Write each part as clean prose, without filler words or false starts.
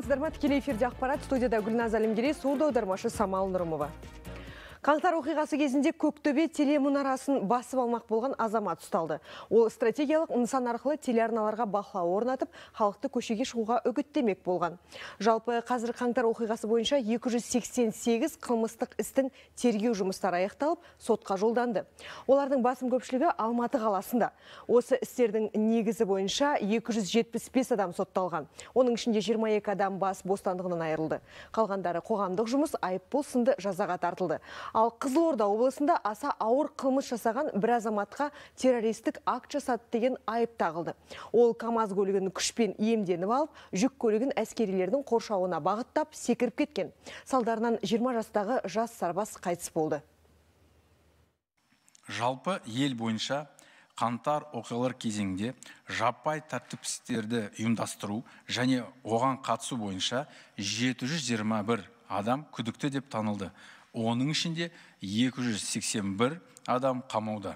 Саламатсыздар ма? Тікелей эфирде ақпарат, студияда Гүлназ Әлімгерей, сурдо аудармашы Самал Нұрымова. Қаңтар оқиғасы кезінде Көктөбе телемұнарасын басып алмақ болған азамат ұсталды. Ол стратегиялық нысан арқылы телеарналарға бақылау орнатып, халықты көшеге шығуға үгіттемек болған. Жалпы қазір қаңтар оқиғасы бойынша 288 қылмыстық істің тергеу жұмыстары аяқталып, сотқа жолданды. Олардың басым көпшілігі Алматы қаласында. Осы істердің негізі бойынша 275 адам сотталған. Оның ішінде 22 адам бас бостандығынан айырылды. Қалғандары қоғамдық жұмыс, айыппұл сынды жазаға тартылды. Ал Қызылорда облысында аса ауыр қылмыс жасаған бір азаматқа террористік акт жасады деген айып тағылды. Ол КамАЗ көлігін күшпен иемденіп алып, жүк көлігін әскерилердің қоршауына бағыттап секіріп кеткен. Салдарынан 20 жастағы жас сарбаз қайтыс болды. Жалпы ел бойынша қаңтар оқиғалар кезеңде жаппай тәртіпсіздіктерді ұйымдастыру және оған қатысу бойынша 721 адам күдікті деп танылды. Оның ішінде 281 адам қамауда.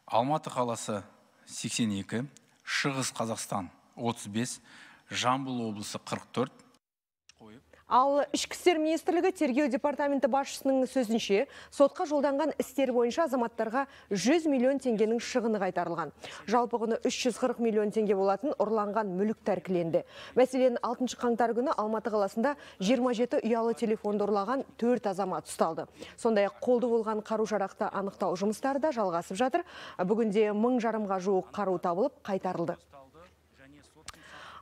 Алматы қаласы 82, Шығыс Қазақстан 35, Жамбыл облысы 44. Ал Ішкі істер министрлігі тергеу департаменті басшысының сөзінше, сотқа жолданған істер бойынша азаматтарға 100 миллион теңгенің шығыны қайтарылған. Жалпы құны 340 миллион теңге болатын ұрланған мүлік тәркіленді. Мәселен, 6 қаңтар күні Алматы қаласында 27 ұялы телефонды ұрлаған 4 азамат ұсталды. Сондай-ақ қолды болған қару-жарақты анықтау жұмыстары да жалғасып жатыр. Бүгінде 1000 жарымға жуық қару табылып қайтарылды.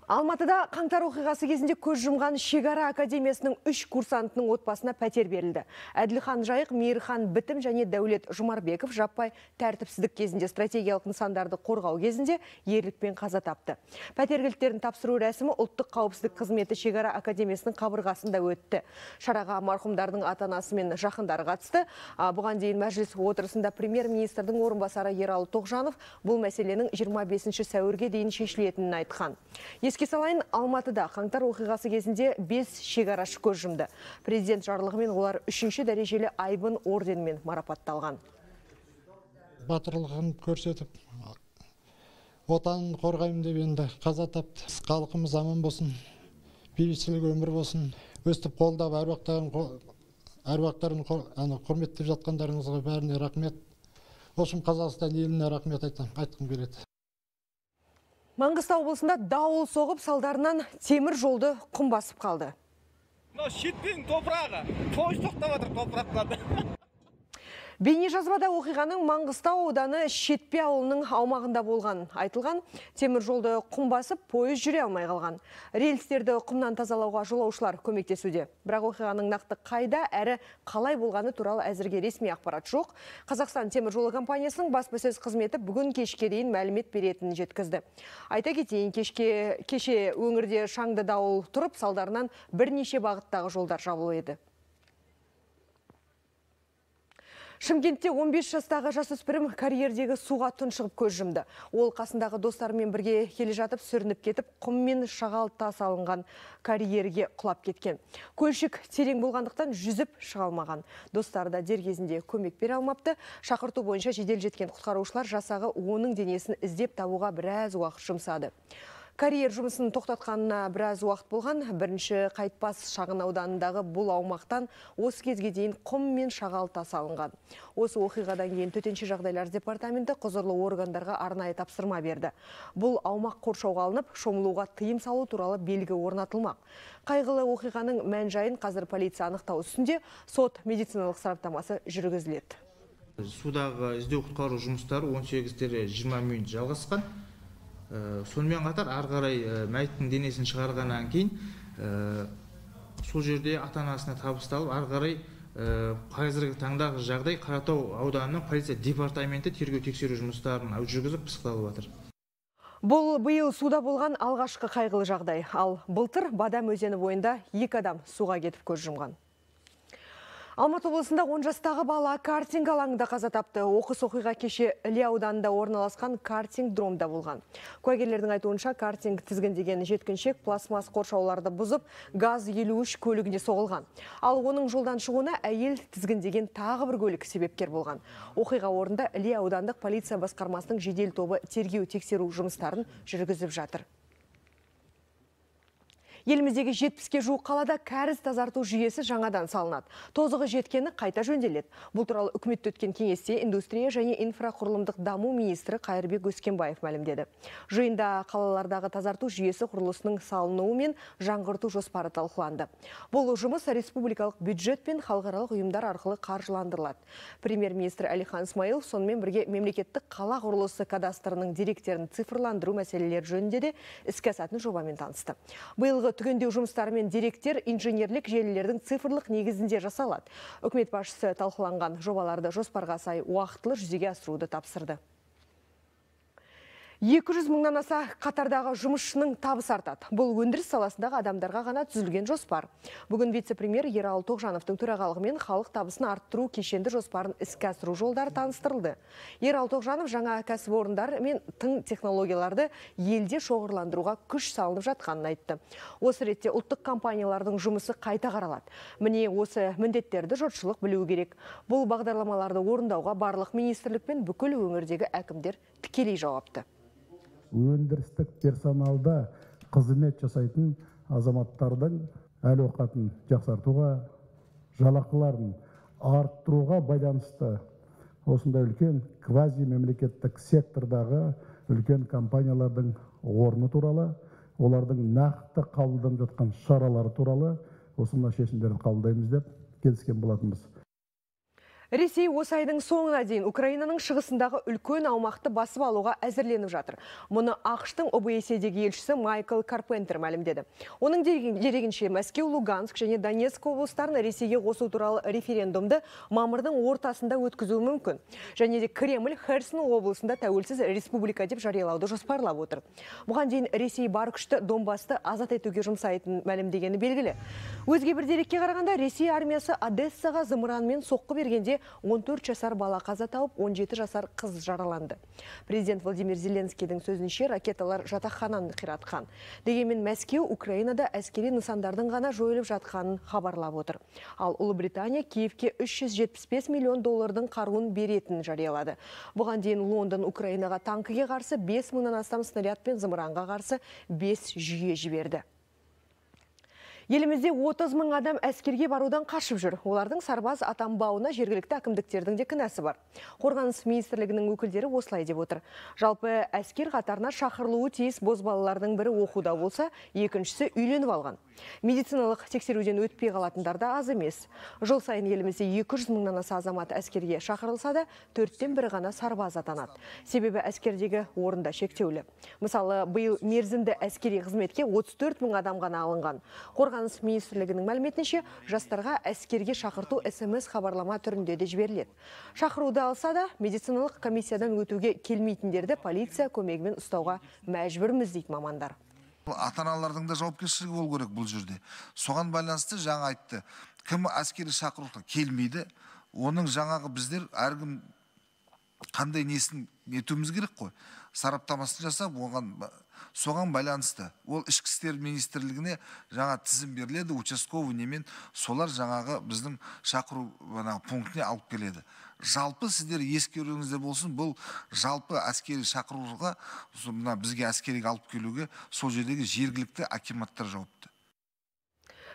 Алматыда қаңтар оқиғасы кезінде көз жұмған Шекара академиясының 3 курсантының отбасына пәтер берілді. Әділхан Жайық, Мейірхан Бітім және Дәулет Жұмарбеков жаппай тәртіпсіздік кезінде стратегиялық нысандарды қорғау кезінде ерлікпен қаза тапты. Пәтер кілттерін тапсыру рәсімі ұлттық қауіпсіздік қызметі Шекара академиясының қабырғасында өтті. Шараға марқұмдардың ата-анасы мен жақындары қатысты. Бұған дейін мәжіліс отырысында премьер-министрдің орынбасары Ералы Тоғжанов бұл мәселенің 25 сәуірге дейін шешілетінін айтқан. Еске салайын, Алматыда қаңтар оқиғасы кезінде 5 шекарашы көз жұмды. Президент жарлығымен олар 3-ші дәрежелі айбын орденімен марапатталған. Батырлығын көрсетіп, отанын қорғаймын деп енді қаза тапты. Халқымыз аман болсын, бейбітшілік өмір болсын. Өстіп қолдап әруақтарын құрметтеп жатқандарыңызға бәріне рахмет. Осым Қазақстан еліне рахмет айтқым келеді. Маңғыстау облысында дауыл соғып, салдарынан темір жолды құм басып қалды. Шетпен топырағы, пойыз тоқтап жатыр топырақтарды. Бейнежазбада оқиғаның Маңғыстау ауданы Шетпе ауылының аумағында болған. Айтылған, темір жолды құм басып, пойыз жүре алмай қалған. Рельстерді құмнан тазалауға жолаушылар көмектесуде. Бірақ оқиғаның нақты қайда әрі қалай болғаны туралы әзірге ресми ақпарат жоқ. Қазақстан темір жолы компаниясының баспасөз қызметі бүгін кешке дейін мәлімет беретінін жеткізді. Айта кетейін, кеше өңірде шаңды дауыл тұрып, салдарынан бірнеше бағыттағы жолдар жабылып еді. Шымкентте 15 жастағы жасөспірім карьердегі суға тұншығып көз жұмды. Ол қасындағы достарымен бірге келе жатып сүрініп кетіп, құм мен шағал тас алынған карьерге құлап кеткен. Көлшік терең болғандықтан жүзіп шыға алмаған. Достары да дер кезінде көмек бере алмапты. Шақырту бойынша жедел жеткен құтқарушылар жасағы оның денесін іздеп табуға біраз уақыт жұмсады. Карьер жұмысын тоқтатқанына біраз уақыт болған. Бірінші Қайтпас шағын ауданындағы бұл аумақтан осы кезге дейін құм мен шағал тас алынған. Осы оқиғадан кейін төтенше жағдайлар департаменті құзырлы органдарға арнайы тапсырма берді. Бұл аумақ қоршауға алынып, шомылуға тыйым салу туралы белгі орнатылмақ. Қайғылы оқиғаның мән-жайын қазір полиция анықтау үстінде, сот медициналық сараптамасы жүргізіледі. Судағы іздеу құтқару жұмыстары 18-20 минут жалғасқан. Сонымен қатар арғарай мәйіттің денесін шығарғаннан кейін сол жерде ата-анасына табысталып, арғарай қазіргі таңдағы жағдай Қаратау ауданының полиция департаменті тергеу тексеру жұмыстарын жүргізіп пысықталып жатыр. Бұл биыл суда болған алғашқы қайғылы жағдай. Ал былтыр Бадам өзені бойында 2 адам суға кетіп көз жұмған. Алматы облысында 10 жастағы бала картинг алаңында қаза тапты. Оқыс оқиға кеше Іле ауданында орналасқан картинг дромда болған. Куәгерлердің айтуынша картинг тізгіндеген жеткіншек пластмасс қоршауларды бұзып, ГАЗ 53 көлігіне соғылған. Ал оның жолдан шығуына әйел тізгіндеген тағы бір көлік себепкер болған. Оқиға орнында Іле аудандық полиция басқармасының жедел тобы тергеу тексеру жұмыстарын жүргізіп жатыр. Еліміздегі 70-ге жуық қалада кәріз тазарту жүйесі жаңадан салынады. Тозығы жеткені қайта жөнделеді. Бұл туралы үкіметте өткен кеңесте индустрия және инфрақұрылымдық даму министрі Қайырбек Өскенбаев мәлімдеді. Жиында қалалардағы тазарту жүйесі құрылысының салынуы мен жаңғырту жоспары талқыланды. Бұл жұмыс республикалық бюджет пен халықаралық ұйымдар арқылы қаржыландырылады. Премьер-министр Әлихан Смайылов сонымен бірге мемлекеттік қала құрылысы кадастрының деректерін цифрландыру мәселелері жөнінде де іске асатын жобамен танысты. Биылғы түгендеу жұмыстары мен деректер инженерлік желілердің цифрлық негізінде жасалады. Үкімет басшысы талқыланған жобаларды жоспарға сай уақытылы жүзеге асыруды тапсырды. 200 мыңнан аса қатардағы жұмысшының табысы артады. Бұл өндіріс саласындағы адамдарға ғана түзілген жоспар. Бүгін вице-премьер Ералы Тоғжановтың төрағалығымен халық табысын арттыру кешенді жоспарын іске асыру жолдары таныстырылды. Ералы Тоғжанов жаңа кәсіпорындар мен тың технологияларды елде шоғырландыруға күш салынып жатқанын айтты. Осы ретте ұлттық компаниялардың жұмысы қайта қаралады. Міне осы міндеттерді жұртшылық білуі керек. Бұл бағдарламаларды орындауға барлық министрлік пен бүкіл өңірдегі әкімдер тікелей жауапты. Өндірістік персоналда қызмет жасайтын азаматтардың әл-ауқатын жақсартуға, жалақыларын арттыруға байланысты осындай үлкен квази мемлекеттік сектордағы үлкен компаниялардың орны туралы, олардың нақты қабылданып жатқан шаралары туралы осындай шешімдерді қабылдаймыз деп келіскен болатынбыз. Ресей осы айдың соңына дейін Украинаның шығысындағы үлкен аумақты басып алуға әзірленіп жатыр. Мұны ақш-тың ОБСЕ-дегі елшісі Майкл Карпентер мәлімдеді. Оның дерегінше Мәскеу, Луганск және Донецк облыстарын Ресейге қосу туралы референдумды мамырдың ортасында өткізуі мүмкін. Және де Кремль Херсон облысында тәуелсіз республика деп жариялауды жоспарлап отыр. Бұған дейін Ресей бар күшті Донбасты азат етуге жұмсайтын мәлімдегені белгілі. Өзге бір дерекке қарағанда Ресей армиясы Одессаға зымыранмен соққы бергенде 14 жасар бала қаза тауып, 17 жасар қыз жараланды. Президент Владимир Зеленскийдің сөзінше ракеталар жатақхананы қиратқан. Дегенмен Мәскеу Украинада әскери нысандардың ғана жойылып жатқанын хабарлап отыр. Ал Ұлыбритания Киевке 375 миллион доллардың қаруын беретінін жариялады. Бұған дейін Лондон Украинаға танкіге қарсы 5 мыңнан астам снаряд пен зымыранға қарсы 5 жүйе жіберді. Елімізде 30 мың адам әскерге барудан қашып жүр. Олардың сарбаз атанбауына жергілікті әкімдіктердің де кінәсі бар. Қорғаныс министрлігінің өкілдері осылай деп отыр. Жалпы әскер қатарына шақырылуы тиіс бозбалалардың бірі оқуда болса, екіншісі үйленіп алған. Медициналық тексеруден өтпей қалатындар да аз емес. Жыл сайын елімізде 200 мыңнан аса азамат әскерге шақырылса да, 4-тен бірі ғана сарбаз атанады. Себебі әскердегі орында шектеулі. Мысалы, биыл мерзімді әскери қызметке 34 мың адам ғана алынған. Қорғаныс министрлігінің мәліметінше, жастарға әскерге шақырту СМС хабарлама түрінде де жіберіледі. Шақыруды алса да, медициналық комиссиядан өтуге келмейтіндерді полиция көмегімен ұстауға мәжбүрміз дейді мамандар. Ата-аналардың да жауапкершілігі болу керек бұл жерде. Соған байланысты жаңа айтты. Кім әскери шақыруға келмейді, оның жаңағы біздер әркім қандай несін етуіміз керек қой. Сараптамасын жасап, соған байланысты. Ол ішкі істер министрлігіне жаңа тізім беріледі, участковый немен солар жаңағы біздің шақыру пунктіне алып келеді. Жалпы сіздер ескеруіңізде болсын, бұл жалпы әскери шақыруға, бізге әскериге алып келуге сол жердегі жергілікті акиматтар жауапты.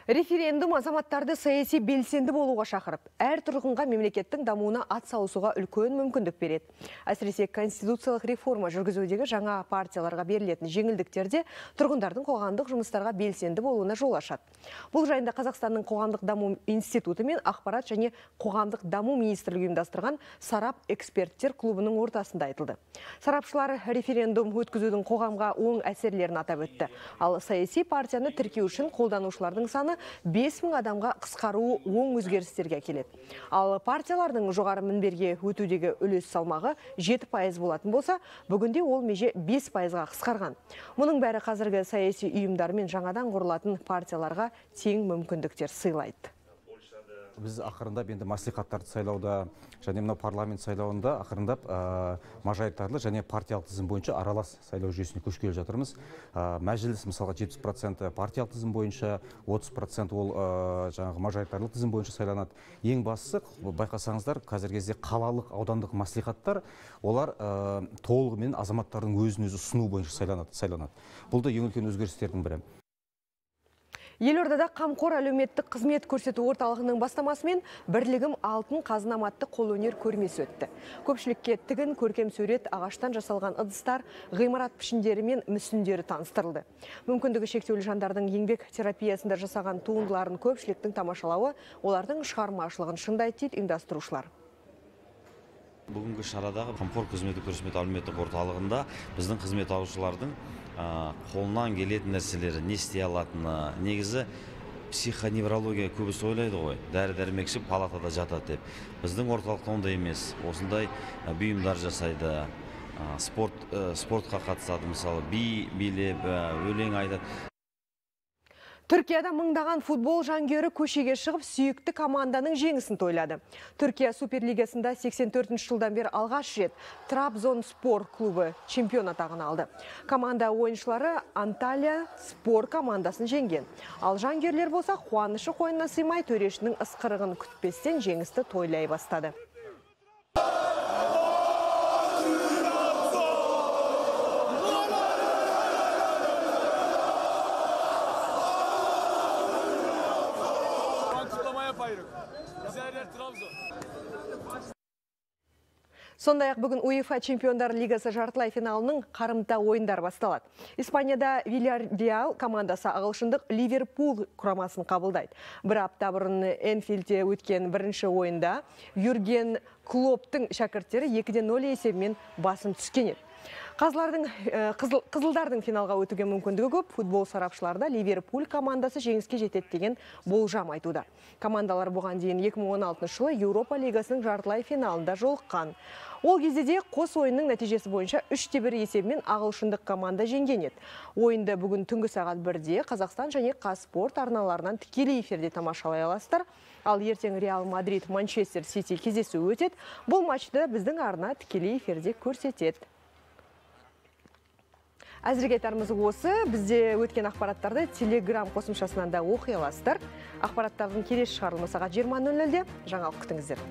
Референдум азаматтарды саяси белсенді болуға шақырып, әр тұрғынға мемлекеттің дамуына ат салысуға үлкен мүмкіндік береді. Әсіресе конституциялық реформа жүргізудегі жаңа партияларға берілетін жеңілдіктерде тұрғындардың қоғамдық жұмыстарға белсенді болуына жол ашады. Бұл жайында Қазақстанның қоғамдық даму институты мен ақпарат және қоғамдық даму министрлігі ұйымдастырған Сарап эксперттер клубының ортасында айтылды. Сарапшылар референдум өткізудің қоғамға оң әсерлерін атап өтті. Ал саяси партияны тіркеу үшін қолданушылардың саны 5 мың адамға қысқаруы оң өзгерістерге келеді. Ал партиялардың жоғары мінберге өтудегі үлес салмағы 7% болатын болса, бүгінде ол меже 5%-ға қысқарған. Мұның бәрі қазіргі саяси ұйымдар мен жаңадан құрылатын партияларға тең мүмкіндіктер сыйлайды. Біз ақырындап енді маслихаттарды сайлауда және мына парламент сайлауында ақырындап мажоритарлы және партиялық тізім бойынша аралас сайлау жүйесіне көшкелі жатырмыз. Мәжіліс мысалға 70% партиялық тізім бойынша, 30% ол жаңағы мажоритарлы тізім бойынша сайланады. Ең бастысы, байқасаңыздар, қазіргі кезде қалалық аудандық маслихаттар, олар толығымен азаматтардың өзін-өзі ұсыну бойынша сайланады. Бұл да ең үлкен өзгерістердің бірі. Елордада қамқор әлеуметтік қызмет көрсету орталығының бастамасымен бірлігім алтын қазынаматты қолөнер көрмесі өтті. Көпшілікке тігін, көркем сурет, ағаштан жасалған ыдыстар, ғимарат пішіндері мен мүсіндері таныстырылды. Мүмкіндігі шектеулі жандардың еңбек терапиясында жасаған туындыларын көпшіліктің тамашалауы олардың шығармашылығын шыңдайды дейді ұйымдастырушылар. Бүгінгі шарадағы қамқор қызметі көрсету әлеуметтік орталығында біздің қызмет алушылардың қолынан келетін нәрселері, не істей алатыны, негізі психоневрология көбісі ойлайды ғой, дәрі-дәрмекші палатада жатады деп. Біздің орталықта ондай емес, осындай бұйымдар жасайды, спортқа қатысады, мысалы би билеп, өлең айтады. Түркияда мыңдаған футбол жанкүйері көшеге шығып, сүйікті команданың жеңісін тойлады. Түркия Суперлигасында 84 жылдан бері алғаш рет Трабзонспор клубы чемпион атағын алды. Команда ойыншылары Анталия спор командасын жеңген. Ал жанкүйерлер болса, қуанышы қойнына сыймай, төрешінің ысқырығын күтпестен жеңісті тойлай бастады. Сондай-ақ бүгін УЕФА Чемпиондар Лигасы жартылай финалының қарымта ойындар басталады. Испанияда Вильярреал командасы ағылшындық Ливерпуль құрамасын қабылдайды. Бір апта бұрын Энфилдте өткен бірінші ойында Юрген Клопптың шәкірттері 2-0 есебімен басым түскен еді. Қызылдардың финалға өтуге мүмкіндігі көп. Футбол сарапшыларда Ливерпуль командасы жеңіске жетеді деген болжам айтуда. Командалар бұған дейін 2016 жылы Еуропа лигасының жартылай финалында жолыққан. Ол кезде де қос ойынның нәтижесі бойынша 3-1 есебімен ағылшындық команда жеңген еді. Ойынды бүгін түнгі сағат 1-де Қазақстан және Қазспорт арналарынан тікелей эфирде тамашалай аласыздар. Ал ертең Реал Мадрид Манчестер Сити кездесу өтеді. Бұл матчты біздің арна тікелей эфирде көрсетеді. Әзірге айтарымыз осы. Бізде өткен ақпараттарды Telegram қосымшасынан да оқи аласыздар. Ақпараттардың келесі шығарылымы сағат 20:00-де жаңалық күтіңіздер.